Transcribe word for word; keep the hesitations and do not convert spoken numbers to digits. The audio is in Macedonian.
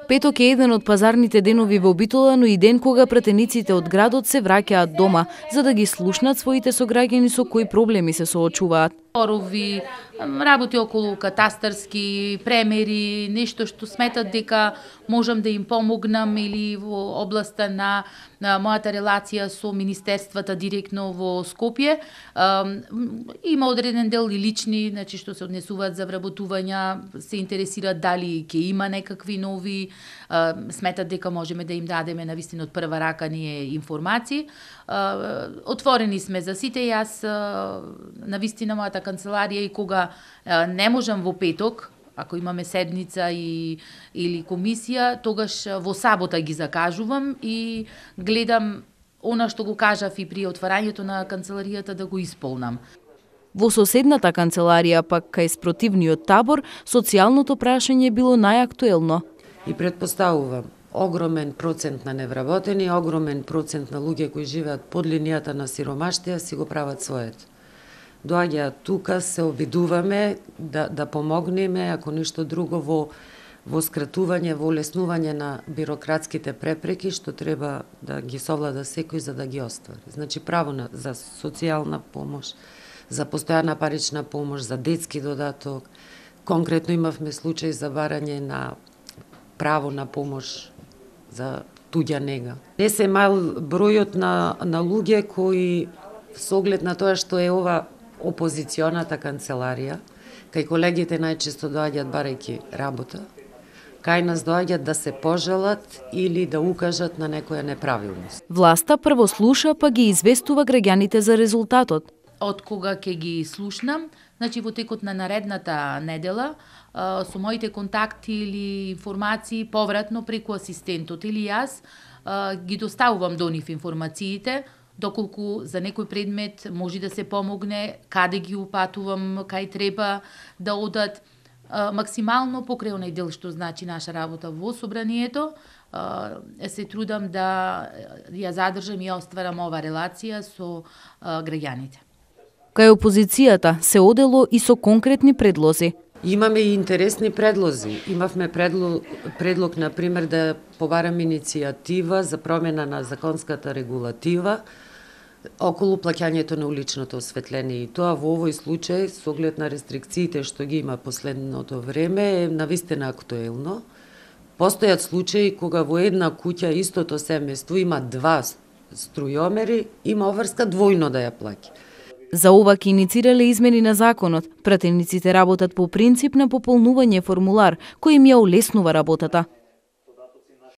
Петок е еден од пазарните денови во Битола, но и ден кога пратениците од градот се враќаат дома, за да ги слушнат своите сограѓани со кои проблеми се соочуваат. Спорови, работи околу катастарски, премери, нешто што сметат дека можам да им помогнам или во областа на, на мојата релација со министерствата директно во Скопје. Има одреден дел и лични, значи што се однесуваат за вработувања, се интересираат дали ќе има некакви нови, сметат дека можеме да им дадеме навистина од прва рака ние информации. Отворени сме за сите. Јас навистина мојата канцеларија и кога не можам во петок, ако имаме седница и, или комисија, тогаш во сабота ги закажувам и гледам она што го кажав и при отварањето на канцеларијата да го исполнам. Во соседната канцеларија, пак кај спротивниот табор, социјалното прашање било најактуелно. И предпоставувам, огромен процент на невработени, огромен процент на луѓе кои живеат под линијата на сиромаштија си го прават своето. Доаѓаат тука, се обидуваме да, да помогнеме, ако ништо друго, во, во скратување, во олеснување на бирократските препреки, што треба да ги совлада секој за да ги оствари. Значи, право на, за социјална помош, за постојана парична помош, за детски додаток. Конкретно имавме случај за барање на право на помош за туѓа нега. Не се мал бројот на, на луѓе кои, со оглед на тоа што е ова опозиционата канцеларија, кај колегите најчесто доаѓаат барајќи работа, кај нас доаѓаат да се пожалат или да укажат на некоја неправилност. Власта прво слуша, па ги известува граѓаните за резултатот. Од кога ќе ги слушнам, значи во текот на наредната недела, со моите контакти или информации повратно преку асистентот или јас ги доставувам до нив информациите, доколку за некој предмет може да се помогне, каде ги упатувам, кај треба да одат. Максимално покрај онај дел што значи наша работа во собранието, се трудам да ја задржам и остварам ова релација со граѓаните. Кај опозицијата се одело и со конкретни предлози. Имаме и интересни предлози. Имавме предлог, предлог например, да побарам иницијатива за промена на законската регулатива околу плаќањето на уличното осветление. И тоа во овој случај, со оглед на рестрикциите што ги има последното време, е навистина актуелно. Постојат случаи кога во една куќа истото семејство има два струјомери, има обврска двојно да ја плаќа. За ова ќе иницирале измени на законот. Пратениците работат по принцип на пополнување формулар, кој им ја олеснува работата.